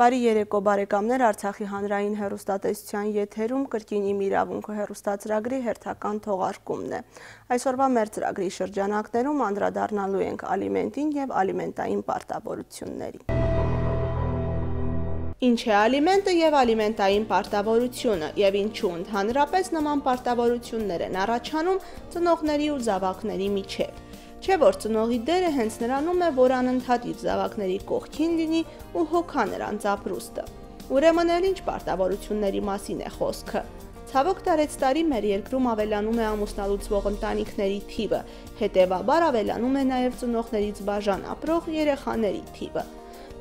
Բարի երեկո բարեկամներ, Արցախի հանրային հեռուստատեսության եթերում կրկին իմ իրավունքը հեռուստացրագրի հերթական թողարկումն է։ Այսօրվա մեր ծրագրի շրջանակներում անդրադառնալու ենք ալիմենտին եւ ալիմենտային պարտավորություններին։ Ինչ է ալիմենտը եւ ալիմենտային պարտավորությունը եւ ինչու ընդհանրապես նման պարտավորություններ են առաջանում ծնողների ու զավակների միջեւ։ Չէ՞ որ ծնողի դերը հենց նրանում է, որ անընդհատ իր զավակների կողքին լինի ու հոգա նրանց ապրուստը։ Ուրեմն էլ ինչ պարտավորությունների մասին է խոսքը։ Ցավոք տարեցտարի մեր երկրում ավելանում է ամուսնալուծվող ընտանիքների թիվը, հետևաբար ավելանում է նաև ծնողներից բաժան ապրող երեխաների թիվը։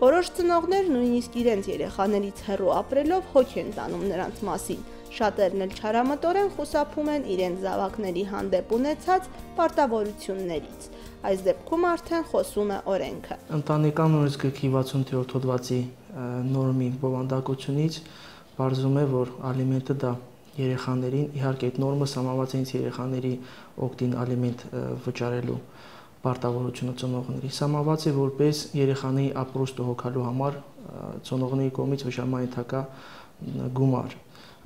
Որոշ ծնողներ նույնիսկ իրենց երեխաներից հեռու ապրելով հոգ են տանում նրանց մասին, շատերն էլ չարամտորեն խուսափում են իրենց զավակների հանդեպ ունեցած պարտավորություններից։ Այս դեպքում արդեն խոսում է օրենքը։ Ընտանեկան օրենսգրքի 67-րդ հոդվածի նորմի բովանդակությունից բարձում է, որ ալիմենտը դա երեխաներին, իհարկե այդ նորմը սահմանված է երեխաների օգտին ալիմենտ վճարելու պարտավորությունը ծնողների, սահմանված է որպես երեխաների ապրուստը հոգալու համար ծնողների կողմից վճարման ենթակա գումար։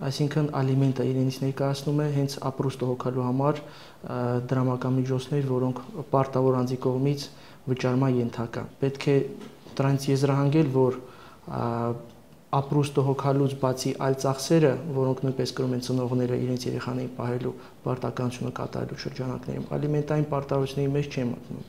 Այսինքն ալիմենտը իրենից ներկայացնում է հենց ապրուստը հոգալու համար դրամական միջոցներ, որոնք պարտավոր անձի կողմից վճարման ենթակա։ Պետք է դրանից եզրահանգել, որ ապրուստը հոգալուց բացի այլ ծախսերը, որոնք նույնպես կրում են ծնողները իրենց երեխաներին պահելու պարտականությունը կատարելու շրջանակներում, ալիմենտային պարտավորությունների մեջ չեն մտնում։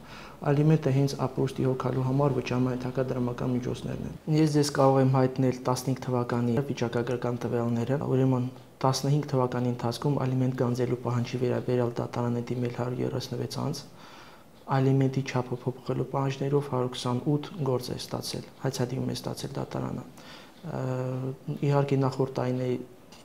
Ալիմենտը հենց ապրուստի հոգալու համար վճարման ենթակա դրամական միջոցներն են։ Ես ձեզ կարող եմ հայտնել 15 թվականի վիճակագրական տվյալները, ուրեմն 15 թվականի ընթացքում ալիմենտ գանձելու պահանջի վերաբերյալ դատարան է դիմել 136 անձ, ալիմենտի չափը փոփոխելու պահանջներով 128 գործ է ստացել, հայցադիմում է ստացել դատարանը։ Իհարկե նախորդ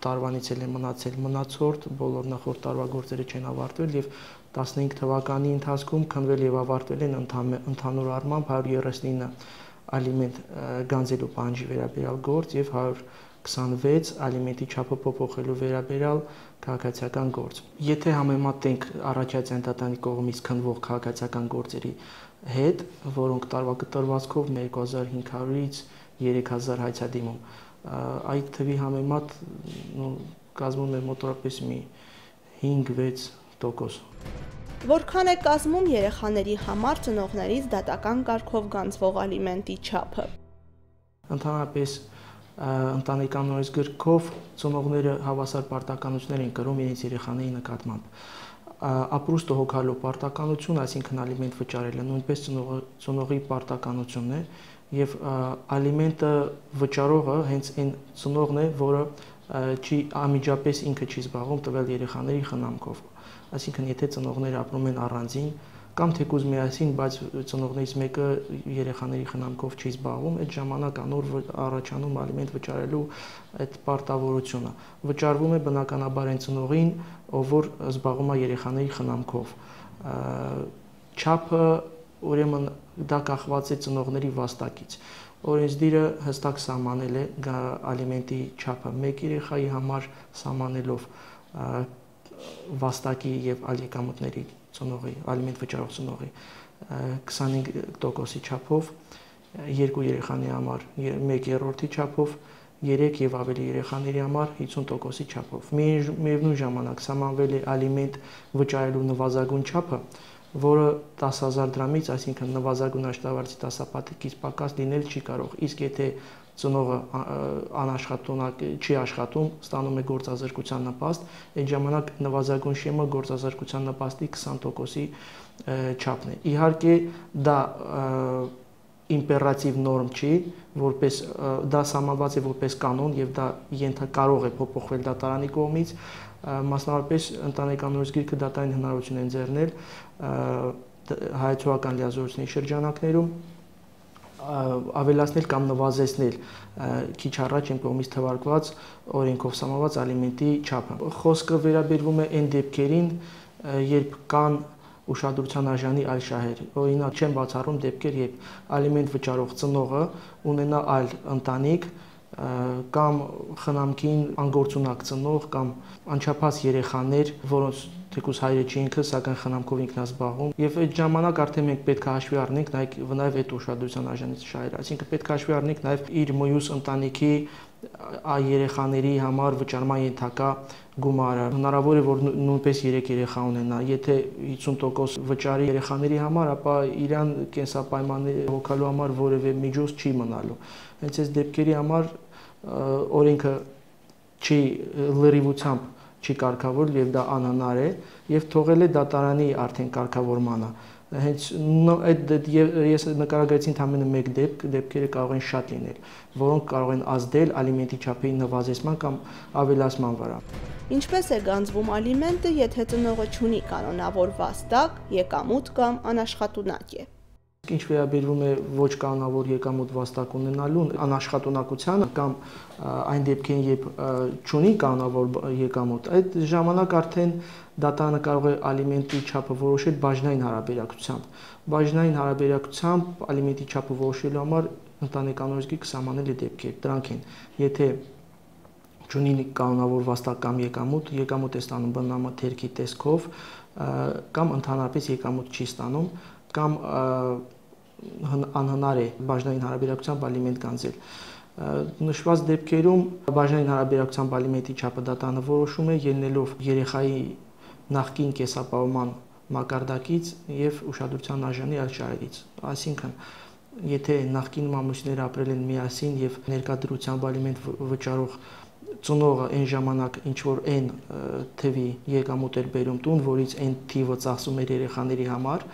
տարվանից էլ է մնացել մնացորդ, բոլոր նախորդ տարվա գործերը չեն ավարտվել եւ 15 թվականի ընթացքում քննվել եւ ավարտվել են ընդհանուր առմամբ 139 ալիմենտ գանձելու պահանջի վերաբերյալ գործ եւ 126 ալիմենտի չափը փոփոխելու վերաբերյալ քաղաքացիական գործ։ Եթե համեմատենք առաջացան դատարանի կողմից քննվող քաղաքացիական գործերի հետ, որոնք տարվա կտրվածքով 2500-ից 3000 հայցադիմում, այդ թվի համեմատ կազմում է մոտավորապես մի 5-6%։ Որքան է կազմում երեխաների համար ծնողներից դատական կարգով գանձվող ալիմենտի չափը։ Ընդհանրապես ընտանեկան օրենսգրքով ծնողները հավասար պարտականություններ են կրում իրենց երեխաների նկատմամբ։ Ապրուստը հոգալու պարտականություն, այսինքն ալիմենտ վճարելը նույնպես ծնողի պարտականությունն է եւ ալիմենտը վճարողը հենց այն ծնողն է, որը անմիջապես ինքը չի զբաղվում տվյալ երեխաների խնամքով։ Այսինքն եթե ծնողները ապրում են առանձին կամ թեկուզ միասին, բայց ծնողներից մեկը երեխաների խնամքով չի զբաղվում, այդ ժամանակ անոր առաջանում ալիմենտ վճարելու այդ պարտավորությունը։ Վճարվում է բնականաբար այն ծնողին, ով որ զբաղվում է երեխաների խնամքով։ Չափը ուրեմն դա կախված է ծնողների վաստակից։ Օրենսդիրը հստակ սահմանել է ալիմենտի չափը մեկ երեխայի համար սահմանելով վաստակի եւ այլ եկամուտների ծնողի, ալիմենտ վճարող ծնողի 25%-ի չափով, երկու երեխաների համար 1/3-ի չափով, 3 եւ ավելի երեխաների համար 50%-ի չափով։ Միևնույն ժամանակ սահմանվել է ալիմենտ վճարելու նվազագույն չափը, որը 10000 դրամից, այսինքն նվազագույն աշտարակի դասապատիկից պակաս լինել չի կարող։ Իսկ եթե ծնողը անաշխատունակ չի աշխատում, ստանում է գործազրկության նպաստ, այդ ժամանակ նվազագույն շեմը գործազրկության նպաստի 20%-ի չափն է։ Իհարկե դա իմպերատիվ նորմ չի, որպես դա սահմանված է որպես կանոն եւ դա կարող է փոփոխվել դատարանի կողմից, մասնավորապես ընտանեկան օրենսգիրքը դատարանին հնարավորություն է ընձեռնել հայեցողական լիազորությունների շրջանակներում ավելացնել կամ նվազեցնել քիչ առաջ իմ կողմից թվարկված օրենքով սահմանված ալիմենտի չափը։ Խոսքը վերաբերվում է այն դեպքերին, երբ կան ուշադրության արժանի այլ շահեր։ Օրինակ չեմ բացառում դեպքեր, երբ ալիմենտ վճարող ծնողը ունենա այլ ընտանիք կամ խնամքին անգործունակ ծնող կամ անչափահաս երեխաներ, որոնց թեկուզ հայրը չի ինքը, սակայն խնամքով ինքն է զբաղվում, եւ այդ ժամանակ արդեն մենք պետք է հաշվի առնենք նաեւ այդ ուշադրության արժանի շահերը, այսինքն պետք է հաշվի առնենք նաեւ իր մյուս ընտանիքի երեխաների համար վճարման ենթակա գումարը։ Հնարավոր է, որ նույնպես 3 երեխա ունենա, եթե 50% վճարի երեխաների համար, ապա իրան կենսապայմանների հոգալու համար որևէ միջոց չի մնալու։ Հենց այս դեպքերի համար օրենքը չի լրիվությամբ չի կարգավորել եւ դա անհնար է եւ թողել է դատարանի արդեն կարգավորմանը։ Հենց ես նկարագրեցի ընդամենը մեկ դեպքերը կարող են շատ լինել, որոնք կարող են ազդել ալիմենտի չափի նվազեցման կամ ավելացման վրա։ Ինչպես է գանձվում ալիմենտը, եթե ծնողը չունի կանոնավոր վաստակ, եկամուտ կամ անաշխատունակ է։ Ինչ վերաբերվում է ոչ կանոնավոր եկամուտ վաստակ ունենալուն, անաշխատունակությանը կամ այն դեպքերին, երբ չունի կանոնավոր եկամուտ, այդ ժամանակ արդեն դատարանը կարող է ալիմենտի չափը որոշել բաժնային հարաբերակցությամբ։ Բաժնային հարաբերակցությամբ ալիմենտի չափը որոշելու համար ընտանեկան օրենսգիրքը կսահմանել է դեպքեր։ Դրանք են, եթե չունի կանոնավոր վաստակ կամ եկամուտ է ստանում բնամթերքի տեսքով կամ ընդհանրապես եկամուտ չի ստանում կամ անհնար է բաժնային հարաբերակցությամբ ալիմենտ գանձել։ Նշված դեպքերում բաժնային հարաբերակցությամբ ալիմենտի չափը դատարանը որոշում է ելնելով երեխայի նախկին կեսապահովման մակարդակից եւ ուշադրության արժանի այլ շահերից։ Այսինքն, եթե նախկին ամուսինները ապրել են միասին եւ ներկայդրությամբ ալիմենտ վճարող ծնողը այն ժամանակ ինչ որ այն թվի եկամուտ էր բերում տուն, որից այն թիվը ծախսում էր երեխաների համար,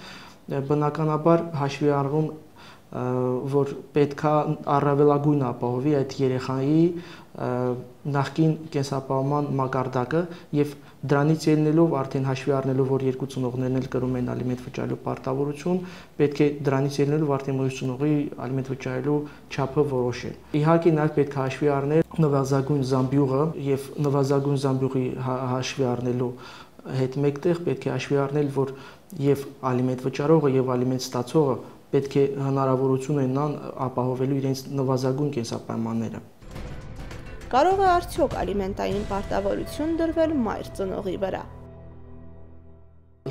բնականաբար հաշվի առնում, որ պետքա առավելագույն ապահովի այդ երեխայի նախկին կենսապահովման մակարդակը եւ դրանից ելնելով արդեն հաշվի առնելով, որ երկու ծնողներն էլ կրում են ալիմենտ վճարելու պարտավորություն, պետք է դրանից ելնելով արդեն մյուս ծնողի ալիմենտ վճարելու չափը որոշել։ Իհարկե նաեւ պետք է հաշվի առնել նվազագույն զամբյուղը եւ նվազագույն զամբյուղի հաշվի առնելու հետ մեկտեղ պետք է հաշվի առնել, որ եւ ալիմենտ վճարողը եւ ալիմենտ ստացողը պետք է հնարավորություն ունենան ապահովելու իրենց նվազագույն կենսապայմանները։ Կարող է արդյոք ալիմենտային պարտավորություն դրվել մայր ծնողի վրա։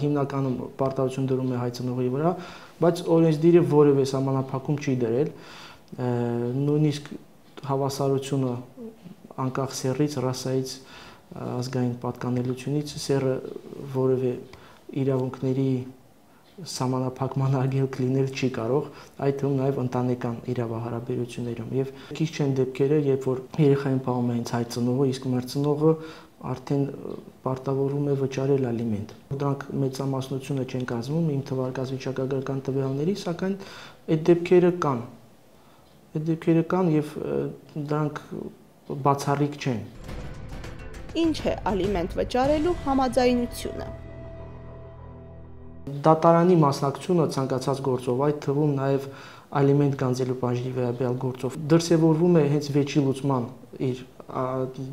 Հիմնականում պարտավորություն դրում է հայ ծնողի վրա, բայց օրենսդիրը որևէ սահմանափակում չի դրել, նույնիսկ հավասարությունը անկախ սեռից, ռասայից, ազգային պատկանելությունից սեռը որևէ իրավունքների սահմանափակման արգելք լինել չի կարող, այդ թվում նաև ընտանեկան իրավահարաբերություններում։ Եվ քիչ չեն դեպքերը, երբ որ երեխային պահում է հենց հայ ծնողը, իսկ մայր ծնողը արդեն պարտավորվում է վճարել ալիմենտ։ Դրանք մեծամասնությունը չեն կազմում իմ թվարկածվիճակագրական տվյալների, սակայն այդ դեպքերը կան։ Այդ դեպքերը կան եւ դրանք բացառիկ չեն։ Ինչ է ալիմենտ վճարելու համաձայնությունը։ Դատարանի մասնակցությունը ցանկացած գործով, այդ թվում նաև ալիմենտ գանձելու բաժնի վերաբերյալ գործով դրսևորվում է հենց վեճի լուծման իր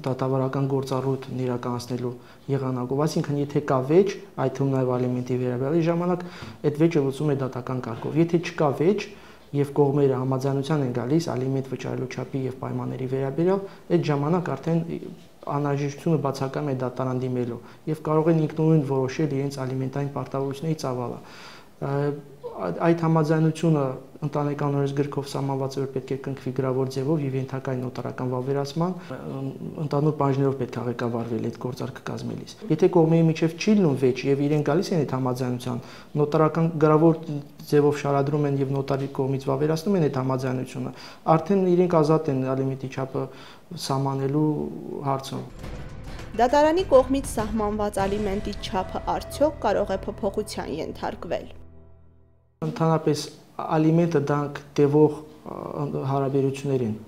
դատավարական գործառույթն իրականացնելու եղանակով, այսինքն եթե կա վեճ, այդ թվում նաև ալիմենտի վերաբերյալ ժամանակ այդ վեճը լուծում է դատական կարգով։ Եթե չկա վեճ եւ կողմերը համաձայնության են գալիս ալիմենտ վճարելու չափի եւ պայմանների վերաբերյալ, այդ ժամանակ արդեն անհրաժեշտությունը բացակայում է դատարան դիմելու եւ կարող են ինքնուրույն որոշել իրենց ալիմենտային պարտավորությունների ծավալը։ Այդ համաձայնությունը ընտանեկան օրենսգրքով սահմանված է, որ պետք է կնքվի գրավոր ձևով եւ ենթակա նոտարական վավերացման, ընդհանուր բաժներով պետք է ղեկավարվել այդ գործարքը կազմելիս։ Եթե կողմերի միջև չի լինում վեճ եւ իրեն գալիս են այդ համաձայնության, նոտարական գրավոր ձևով շարադրում են եւ նոտարի կողմից վավերացնում են այդ համաձայնությունը, արդեն իրենք ազատ են ալիմենտի չափը սահմանելու հարցում։ Դատարանի կողմից սահմանված ալիմենտի չափը արդյոք կարող է փոփոխության ենթարկվել։ Ընդհանրապես ալիմենտը դրանք տևող հարաբերություններ են,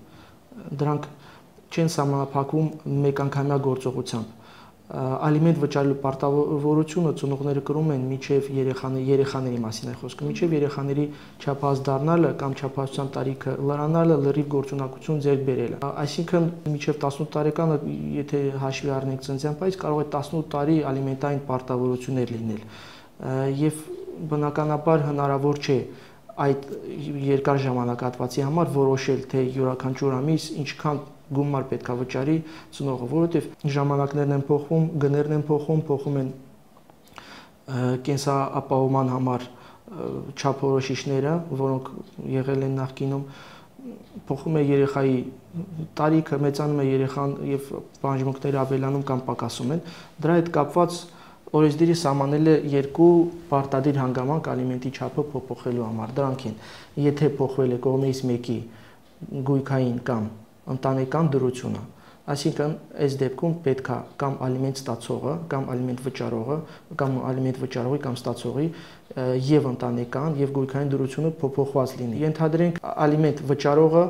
դրանք չեն սահմանափակվում մեկանգամյա գործողությամբ։ Ալիմենտ վճարելու պարտավորությունը ծնողները կրում են մինչև երեխաների մասին է խոսքը, մինչև երեխաների չափահաս դառնալը կամ չափահասության տարիքը լրանալը, լրիվ գործունակություն ձեռք բերելը։ Այսինքն մինչև 18 տարեկանը, եթե հաշվի առնենք ծննդյան պայից, կարող է 18 տարի ալիմենտային պարտավորություններ լինել։ Եվ բնականաբար հնարավոր չէ այդ երկար ժամանակահատվածի համար որոշել, թե յուրաքանչյուր ամիս ինչքան գումար պետք է վճարի ծնողը, որովհետև ժամանակներն են փոխվում, գներն են փոխվում են կենսապահովման համար չափորոշիչները, որոնք եղել են նախկինում, փոխում է երեխայի տարիքը, մեծանում է երեխան եւ բանջմունքները ավելանում կամ պակասում են։ Դրա հետ կապված օրենսդիրը սահմանել է երկու պարտադիր հանգամանք ալիմենտի չափը փոփոխելու համար։ Դրանք են. եթե փոխվել է կողմից մեկի գույքային կամ ընտանեկան դրությունը, այսինքն այս դեպքում պետք է կամ ալիմենտ ստացողը, կամ ալիմենտ վճարողը, կամ ալիմենտ վճարողի կամ ստացողի եւ ընտանեկան եւ գույքային դրությունը փոփոխված լինի։ Ենթադրենք ալիմենտ վճարողը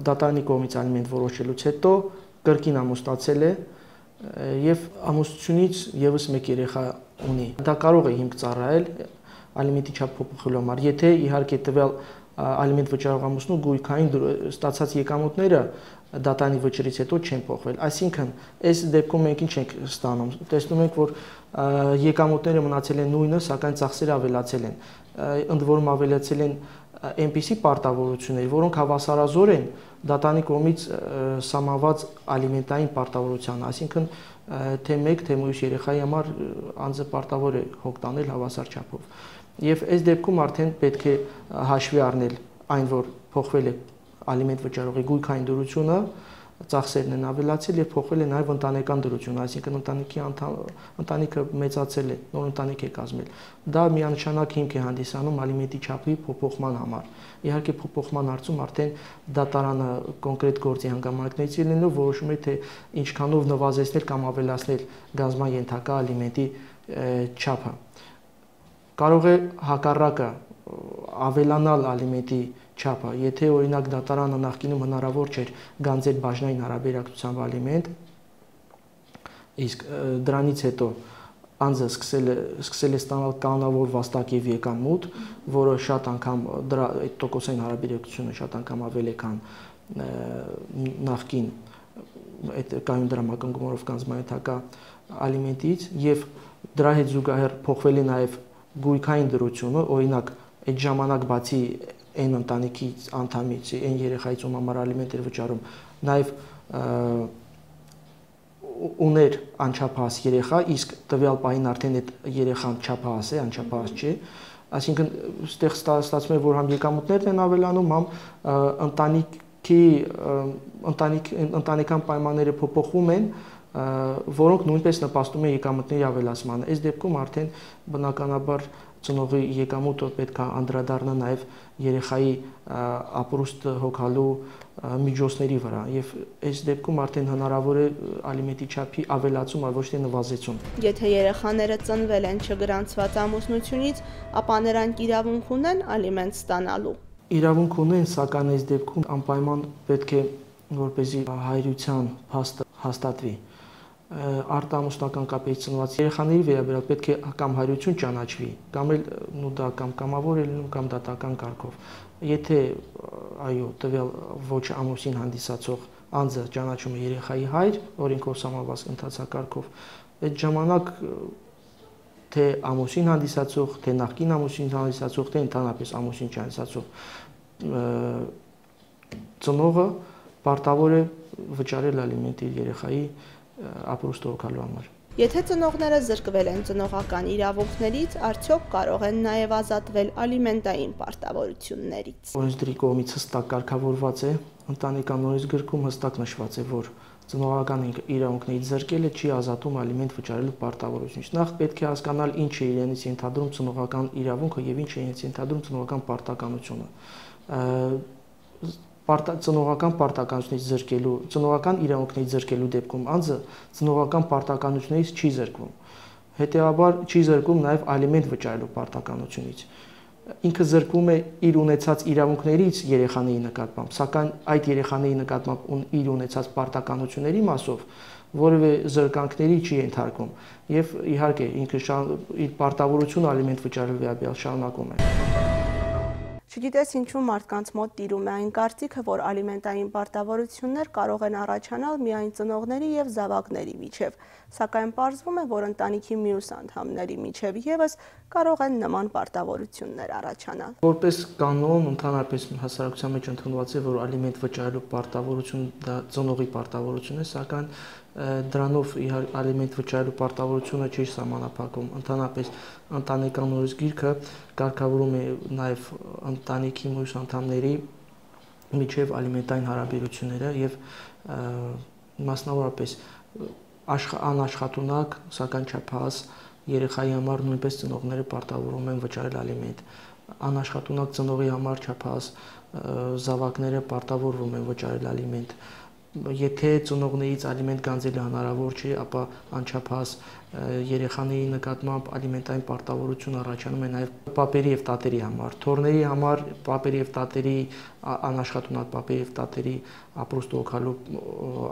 դատարանի կողմից ալիմենտ որոշելուց հետո կրկին ամուսնացել է եւ ամուսնությունից եւս մեկ երեխա ունի։ Դա կարող է հիմք ծառայել ալիմենտի չափ փոփոխելու համար, եթե իհարկե տվյալ ալիմենտ վճարող ամուսնու գույքային ստացած եկամուտները դատարանի վճռից հետո չեն փոխվել։ Այսինքն, այս դեպքում մենք ինչ ենք ստանում։ Տեսնում ենք, որ եկամուտները մնացել են նույնը, սակայն ծախսերը ավելացել են։ Ընդ որում ավելացել են այնպիսի պարտավորություններ, որոնք հավասարազոր են դատարանի կողմից սահմանված ալիմենտային պարտավորությանը, այսինքն թե մեկ, թե մյուս երեխայի համար անձը պարտավոր է հոգ տանել հավասար չափով։ Եվ այս դեպքում արդեն պետք է հաշվի առնել այն, որ փոխվել է ալիմենտ վճարողի գույքային դրությունը, ծախսերն են ավելացել եւ փոխվել է նաեւ ընտանեկան դրությունը, այսինքն ընտանիքը մեծացել է, նոր ընտանիք է կազմել։ Դա միանշանակ հիմք է հանդիսանում ալիմենտի չափի փոփոխման համար։ Իհարկե փոփոխման հարցում արդեն դատարանը կոնկրետ գործի հանգամանքներից լինելով որոշում է թե ինչքանով նվազեցնել կամ ավելացնել գանձման ենթակա ալիմենտի չափը։ Կարող է հակառակը ավելանալ ալիմենտի չափը, եթե օրինակ դատարանը նախկինում հնարավոր չէր գանձել բաժնային հարաբերակցությամբ ալիմենտ, իսկ դրանից հետո անձը սկսել է ստանալ կանոնավոր վաստակ եւ եկամուտ, որը շատ անգամ դրա այդ տոկոսային հարաբերակցությունը շատ անգամ ավել է քան նախկին այդ կայուն դրամակնկումով կանձմանյութակա ալիմենտից եւ դրա հետ զուգահեռ փոխվել է նաեւ գույքային դրությունը, օրինակ այդ ժամանակ բացի այն ընտանիքից անդամից, այն երեխայից ում համար ալիմենտ էր վճարում, նաեւ ուներ անչափահաս երեխա, իսկ տվյալ պահին արդեն այդ երեխան չափահաս է, անչափահաս չէ, այսինքն այստեղ ստացվում է, որ համ եկամուտներն են ավելանում, համ ընտանեկան պայմանները փոփոխվում են, որոնք նույնպես նպաստում են եկամուտների ավելացմանը։ Այս դեպքում արդեն բնականաբար ծնողի եկամուտը պետք է անդրադառնա նաև երեխայի ապրուստը հոգալու միջոցների վրա եւ այս դեպքում արդեն հնարավոր է ալիմենտի չափի ավելացում, այլ ոչ թե նվազեցում։ Եթե երեխաները ծնվել են չգրանցված ամուսնությունից, ապա նրանք իրավունք ունեն ալիմենտ ստանալու։ Իրավունք ունեն, սակայն այս դեպքում անպայման պետք է որպեսզի հայրության փաստը հաստատվի արտամուսնական կապից ծնված երեխաների վերաբերյալ պետք է կամ հայրություն ճանաչվի, կամ էլ դա կամ կամավոր է լինում, կամ դատական կարգով։ Եթե այո, տվյալ ոչ ամուսին հանդիսացող անձը ճանաչում է երեխայի հայր, օրենքով սահմանված ընթացակարգով, այդ ժամանակ թե ամուսին հանդիսացող, թե նախկին ամուսին հանդիսացող, թե ընդհանրապես ամուսին չհանդիսացող ծնողը պարտավոր է վճարել ալիմենտ իր երեխայի ապրուստը հոգալու համար։ Եթե ծնողները զրկվել են ծնողական իրավունքներից, արդյոք կարող են նաև ազատվել ալիմենտային պարտավորություններից։ Օրենսդրի կողմից հստակ կարգավորված է, ընտանեկան օրենսգրքում հստակ նշված է, որ ծնողական իրավունքներից զրկելը չի ազատում ալիմենտ վճարելու պարտավորությունից։ Նախ պետք է հասկանալ ինչ է իրենից ենթադրում ծնողական իրավունքը եւ ինչ է իրենից ենթադրում ծնողական պարտականությունը։ Ծնողական պարտականությունից զրկելու, ծնողական իրավունքներից զրկելու դեպքում անձը ծնողական պարտականությունից չի զրկվում։ Հետևաբար չի զրկվում նաև ալիմենտ վճարելու պարտականությունից։ Ինքը զրկվում է իր ունեցած իրավունքներից երեխաների նկատմամբ, սակայն այդ երեխաների նկատմամբ իր ունեցած պարտականությունների մասով որևէ զրկանքների չի ենթարկվում եւ իհարկե ինքը իր պարտավորությունը ալիմենտ վճարելու վերաբերյալ շարունակում է։ Չգիտես ինչու մարդկանց մոտ տիրում է այն կարծիքը, որ ալիմենտային պարտավորություններ կարող են առաջանալ միայն ծնողների եւ զավակների միջև, սակայն պարզվում է, որ ընտանիքի մյուս անդամների միջև եւս կարող են նման պարտավորություններ առաջանալ։ Որպես կանոն, ընդհանրապես հասարակության մեջ ընդունված է, որ ալիմենտ վճարելու պարտավորությունը դա ծնողի պարտավորություն է, սակայն դրանով ալիմենտ վճարելու պարտավորությունը չի սահմանափակում։ Ընդհանրապես ընտանեկան օրենսգիրքը կարգավորում է նաև ընտանիքի մյուս անդամների միջև ալիմենտային հարաբերությունները եւ մասնավորապես անաշխատունակ, սակայն չափահաս երեխայի համար նույնպես ծնողները պարտավորում են վճարել ալիմենտ։ Անաշխատունակ ծնողի համար չափահաս զավակները պարտավորվում են վճարել ալիմենտ։ Եթե ծնողներից ալիմենտ գանձելը հնարավոր չի, ապա անչափահաս երեխաների նկատմամբ ալիմենտային պարտավորություն առաջանում է նաև պապերի եւ տատերի համար։ Թոռների համար պապերի եւ տատերի անաշխատունակ պապերի եւ տատերի ապրուստը օգալու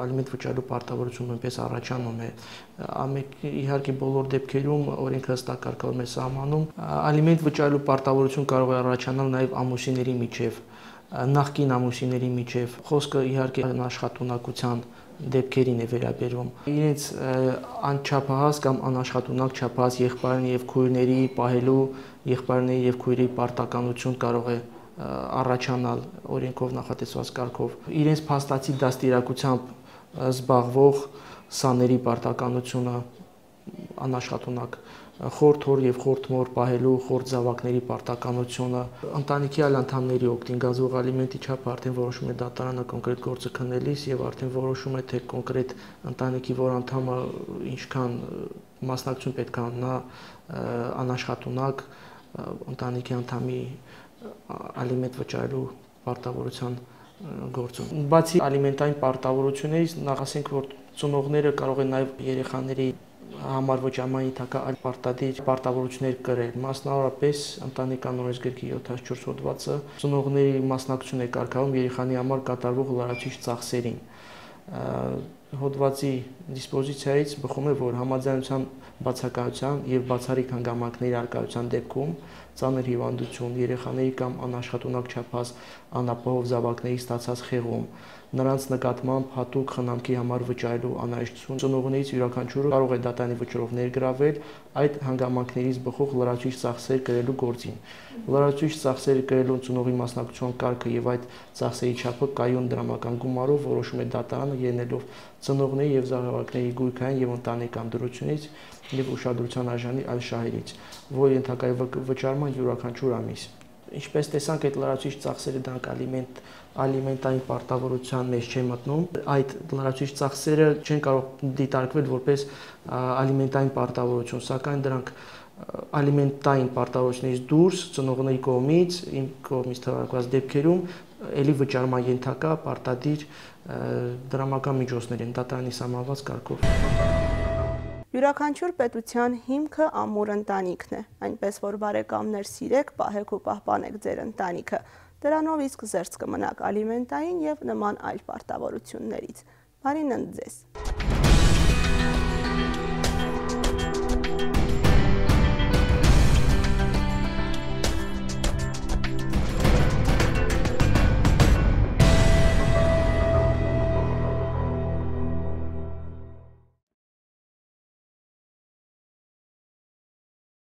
ալիմենտ վճարելու պարտավորություն նույնպես առաջանում է։ Իհարկե բոլոր դեպքերում օրենքը հստակ կարգավորում է սահմանում։ Ալիմենտ վճարելու պարտավորություն կարող է առաջանալ նաև ամուսինների միջև, նախկին ամուսինների միջև, խոսքը իհարկե անաշխատունակության դեպքերին է վերաբերվում։ Իրենց անչափահաս կամ անաշխատունակ չափահաս եղբայրների եւ քույրների պահելու, եղբայրների եւ քույրերի պարտականություն կարող է առաջանալ օրենքով նախատեսված կարգով։ Իրենց փաստացի դաստիարակությամբ զբաղվող սաների պարտականությունը անաշխատունակ, խորթ հոր եւ խորթ մոր պահելու խորթ զավակների պարտականությունը, ընտանիքի այլ անդամների օգտին գազվող ալիմենտի չափը արդեն որոշում է դատարանը կոնկրետ գործը քննելիս եւ արդեն որոշում է թե կոնկրետ ընտանիքի որ անդամը ինչքան մասնակցություն պետք է ունենա անաշխատունակ ընտանիքի անդամի ալիմենտ վճարելու պարտավորության գործում։ Բացի ալիմենտային պարտավորություններից, նախ ասենք, որ ծնողները կարող են նաև երեխաների համար վճարման ենթակա այլ պարտավորություններ կրել, մասնավորապես ընտանեկան օրենսգրքի 74 հոդվածը ծնողների մասնակցություն է կարգավորում երեխանի համար կատարվող լրացուցիչ ծախսերին։ Հոդվածի դիսպոզիցիայից բխում է, որ համաձայնության բացակայության եւ բացառիկ հանգամանքների առկայության դեպքում ծանր հիվանդություն, երեխաների կամ անաշխատունակ չափահաս անապահով զավակների ստացած խեղում, նրանց նկատմամբ հատուկ խնամքի համար վճարելու անհրաժեշտություն ծնողներից յուրաքանչյուրը կարող է դատարանի վճռով ներգրավել այդ հանգամանքներից բխող լրացուցիչ ծախսեր կրելու գործին։ Լրացուցիչ ծախսեր կրելու ծնողի մասնակցության կարգը եւ այդ ծախսերի չափը կայուն դրամական գումարով որոշում է դատարանը ելնելով ծնողների եւ զավակների գույքային եւ ընտանեկան դրությունից եւ ուշադրության արժանի այլ շահերից, որ ենթակա է վճարման յուրաքանչյուր ամիս։ Ինչպես տեսանք, այդ լրացուցիչ ծախսերը դրանք ալիմենտային պարտավորության մեջ չեն մտնում։ Այդ լրացուցիչ ծախսերը չեն կարող դիտարկվել որպես ալիմենտային պարտավորություն, սակայն դրանք ալիմենտային պարտավորությունից դուրս ծնողների կողմից, իմ կողմից թվարկված դեպքերում ելի վճարման ենթակա պարտադիր դրամական միջոցներ են դատարանի սահմանված կարգով։ Յուրաքանչյուր պետության հիմքը ամուր ընտանիքն է, այնպես որ բարեկամներ սիրեք, պահեք ու պահպանեք ձեր ընտանիքը, դրանով իսկ զերծ կմնաք ալիմենտային եւ նման այլ պարտավորություններից։ Բարին ընդ ձեզ։